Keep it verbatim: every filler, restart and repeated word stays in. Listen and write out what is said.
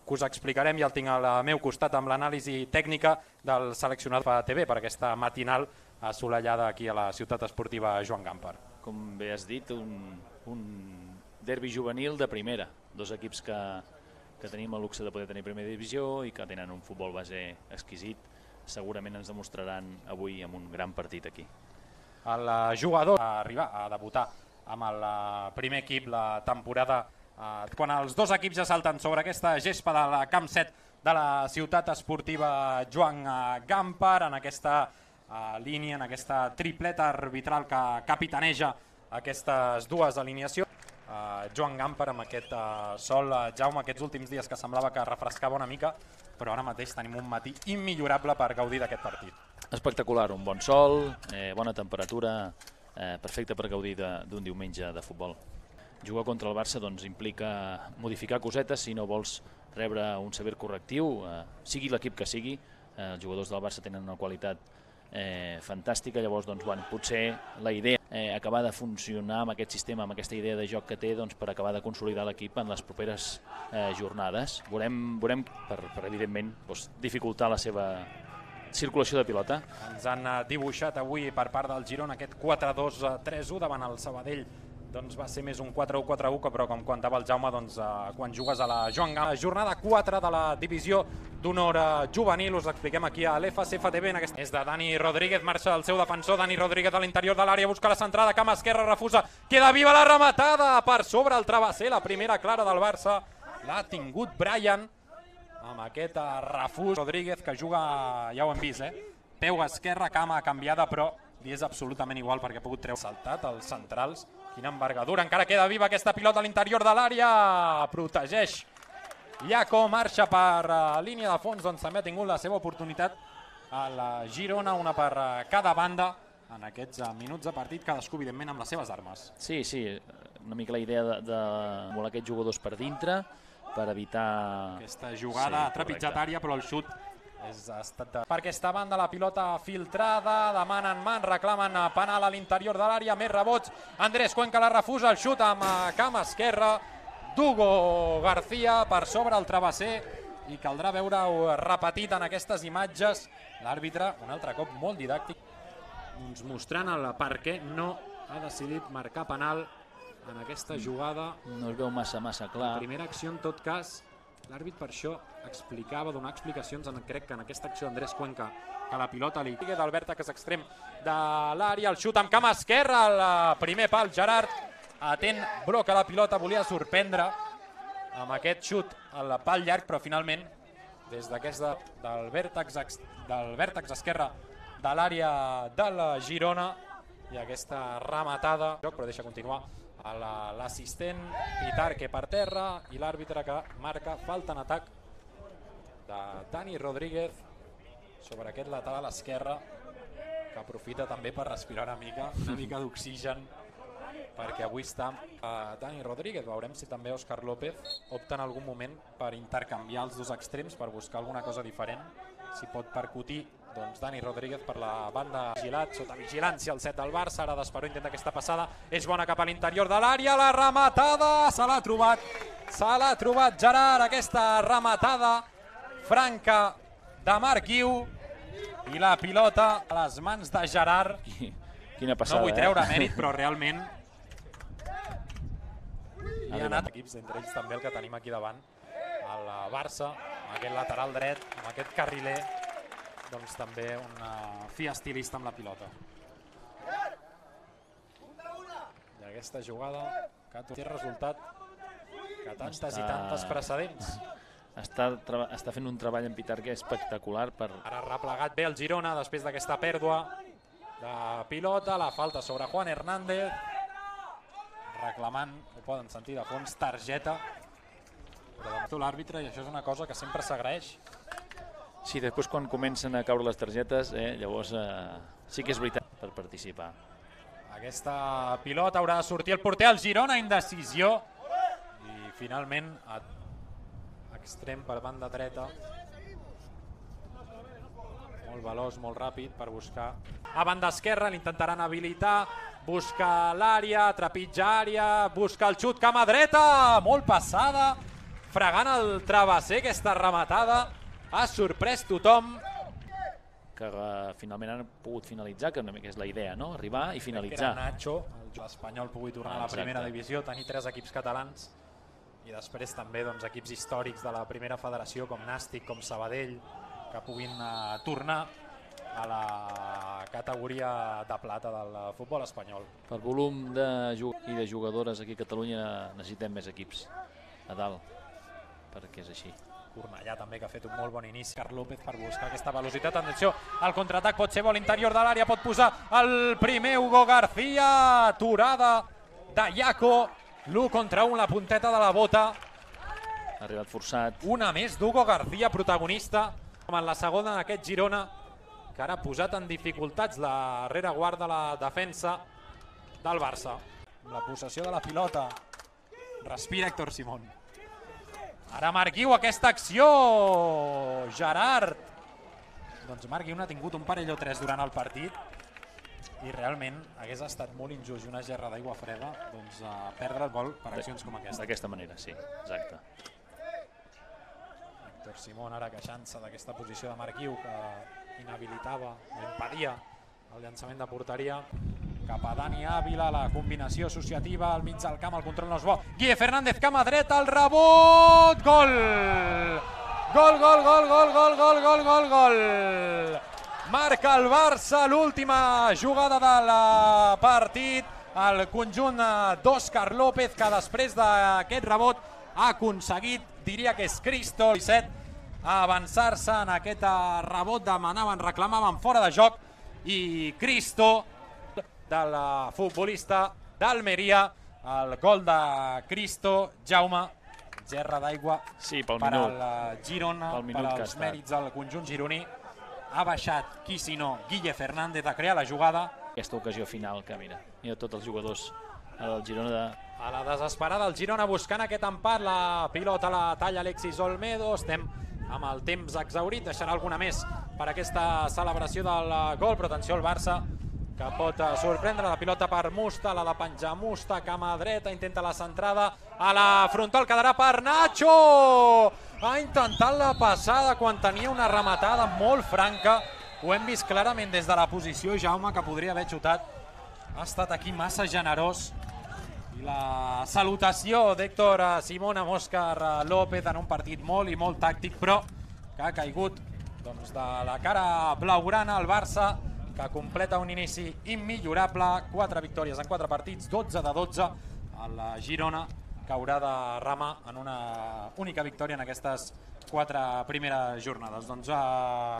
que us explicarem i el tinc al meu costat amb l'anàlisi tècnica del seleccionat per T V per aquesta matinal assolellada aquí a la ciutat esportiva Joan Gamper. Com bé has dit, un, un derbi juvenil de primera, dos equips que, que tenim el luxe de poder tenir primera divisió i que tenen un futbol base exquisit, segurament ens demostraran avui amb un gran partit aquí. El jugador va arribar a debutar amb el primer equip la temporada quan els dos equips ja salten sobre aquesta gespa del camp set de la ciutat esportiva Joan Gamper, en aquesta línia, en aquesta tripleta arbitral que capitaneja aquestes dues alineacions. Joan Gamper amb aquest sol, Jaume, aquests últims dies que semblava que refrescava una mica, però ara mateix tenim un matí immillorable per gaudir d'aquest partit. Espectacular, un bon sol, eh, bona temperatura, eh, perfecte per gaudir d'un diumenge de futbol. Jugar contra el Barça doncs, implica modificar cosetes si no vols rebre un sever correctiu, eh, sigui l'equip que sigui. Eh, els jugadors del Barça tenen una qualitat eh, fantàstica, llavors doncs, bueno, potser la idea eh, acabar de funcionar amb aquest sistema, amb aquesta idea de joc que té doncs, per acabar de consolidar l'equip en les properes eh, jornades. Veurem, veurem per, per evidentment doncs, dificultar la seva circulació de pilota. Ens han dibuixat avui per part del Girona aquest quatre dos tres u davant el Sabadell. Doncs va ser més un quatre u quatre u, però com contava el Jaume, doncs, eh, quan jugues a la Joan Gamper, jornada quatre de la divisió d'honor juvenil, us expliquem aquí a l'F C F T V. En aquesta... És de Dani Rodríguez, marxa el seu defensor, Dani Rodríguez a l'interior de l'àrea, busca la centrada, cama esquerra, refusa, queda viva la rematada per sobre el travesser, la primera clara del Barça, l'ha tingut Brian, amb aquest refús. Rodríguez que juga, ja ho hem vist, eh? peu esquerra, cama canviada, però li és absolutament igual perquè ha pogut treure saltat als centrals. Quina envergadura, encara queda viva aquesta pilota a l'interior de l'àrea, protegeix Iaco, marxa per uh, línia de fons, doncs també ha tingut la seva oportunitat a la Girona, una per uh, cada banda en aquests uh, minuts de partit, cadascú evidentment amb les seves armes. Sí, sí, una mica la idea de, de voler aquests jugadors per dintre per evitar... Aquesta jugada sí, trepitjatària, però el xut és estat de... Per aquesta banda la pilota filtrada, demanen man, reclamen penal a l'interior de l'àrea, més rebots, Andrés Cuenca la refusa, el xut amb cama esquerra, d'Hugo García per sobre el travesser i caldrà veure-ho repetit en aquestes imatges. L'àrbitre, un altre cop molt didàctic, doncs mostrant el per què no ha decidit marcar penal en aquesta jugada. No es veu massa, massa clar. La primera acció, en tot cas, l'àrbit per això explicava, donar explicacions, en, crec que en aquesta acció Andrés Cuenca, que la pilota li sigue del vèrtex extrem de l'àrea, el xut amb cama esquerra, el primer pal, Gerard, atent, bloca la pilota, volia sorprendre amb aquest xut al pal llarg, però finalment, des d'aquesta del vèrtex, del vèrtex esquerre de l'àrea del Girona, i aquesta rematada, però deixa continuar l'assistent Pitarque per terra i l'àrbitre que marca falta en atac de Dani Rodríguez sobre aquest lateral esquerre, que aprofita també per respirar una mica, una mica d'oxigen, perquè avui està uh, Dani Rodríguez. Veurem si també Òscar López opta en algun moment per intercanviar els dos extrems, per buscar alguna cosa diferent, si pot percutir doncs Dani Rodríguez per la banda. Vigilat, sota vigilància el set del Barça, ara Desperó intenta aquesta passada, és bona cap a l'interior de l'àrea, la rematada, se l'ha trobat, se l'ha trobat Gerard, aquesta rematada franca de Marc Guiu, i la pilota a les mans de Gerard. Quina passada, no vull eh? treure mèrit, però realment hi ha anat equips, entre ells també el que tenim aquí davant, el Barça, amb aquest lateral dret, amb aquest carriler, doncs també una fi estilista amb la pilota. I aquesta jugada que té resultat que tantes està... i tantes precedents. Està, està fent un treball en Pitarque espectacular. Per... Ara ha replegat bé el Girona després d'aquesta pèrdua de pilota, la falta sobre Juan Hernández, reclamant, ho poden sentir de fons, targeta, però de l'àrbitre, i això és una cosa que sempre s'agraeix. Sí, després quan comencen a caure les targetes, eh, llavors eh, sí que és veritat per participar. Aquesta pilota haurà de sortir el porter, el Girona, indecisió, i finalment extrem per banda dreta, molt veloç, molt ràpid per buscar a banda esquerra, l'intentaran habilitar, busca l'àrea, trepitja àrea, busca el xut, cama dreta, molt passada, fregant el travesser, aquesta rematada ha sorprès tothom. Que uh, finalment han pogut finalitzar, que una mica és la idea, no? Arribar i finalitzar. Que era Nacho, l'Espanyol pugui tornar a la primera divisió, tenir tres equips catalans i després també doncs, equips històrics de la primera federació com Nàstic, com Sabadell, que puguin uh, tornar a la categoria de plata del futbol espanyol. Per volum de i de jugadores aquí a Catalunya necessitem més equips a dalt, perquè és així. Cornellà també, que ha fet un molt bon inici. Carl López per buscar aquesta velocitat. Atenció, el contraatac pot ser bo a l'interior de l'àrea, pot posar el primer Hugo García. Aturada de Iaco. L'u contra un, la punteta de la bota. Ha arribat forçat. Una més d'Hugo García, protagonista. Com en la segona d'aquest Girona, que ara ha posat en dificultats la rereguarda de la defensa del Barça. Amb la possessió de la pilota. Respira Héctor Simón. Ara Marc Guiu, aquesta acció, Gerard. Doncs Marc Guiu n'ha tingut un parell o tres durant el partit i realment hagués estat molt injust i una gerra d'aigua freda doncs, a perdre el gol per accions com aquesta. D'aquesta manera, sí, exacte. Héctor Simón ara queixant-se d'aquesta posició de Marc Guiu que inhabilitava, impedia el llançament de porteria. Cap a Dani Ávila, la combinació associativa al mig del camp, el control no és bo. Guille Fernández, cama dreta, el rebot, gol! Gol, gol, gol, gol, gol, gol, gol, gol, gol! Marca el Barça, l'última jugada del partit, el conjunt d'Òscar López, que després d'aquest rebot ha aconseguit, diria que és Cristo, disset, a avançar-se en aquest rebot, demanaven, reclamaven fora de joc, i Cristo, del futbolista d'Almeria, el gol de Cristo, Jaume, gerra d'aigua sí, per al Girona, per als mèrits del conjunt gironí. Ha baixat, qui si no, Guille Fernández a crear la jugada. Aquesta ocasió final que mira, mira tots els jugadors del Girona de... A la desesperada el Girona buscant aquest empat, la pilota la talla Alexis Olmedo, estem amb el temps exhaurit, deixarà alguna més per aquesta celebració del gol, però atenció al Barça, que pot sorprendre, la pilota per Musta, la de penjar Musta, cama dreta, intenta la centrada, a la frontal quedarà per Nacho! Ha intentat la passada quan tenia una rematada molt franca, ho hem vist clarament des de la posició, Jaume, que podria haver xutat, ha estat aquí massa generós, i la salutació d'Héctor Simón amb Òscar López en un partit molt i molt tàctic, però que ha caigut doncs, de la cara blaugrana al Barça, que completa un inici immillorable, quatre victòries en quatre partits, dotze de dotze, el Girona que haurà de remar en una única victòria en aquestes quatre primeres jornades. Doncs, uh...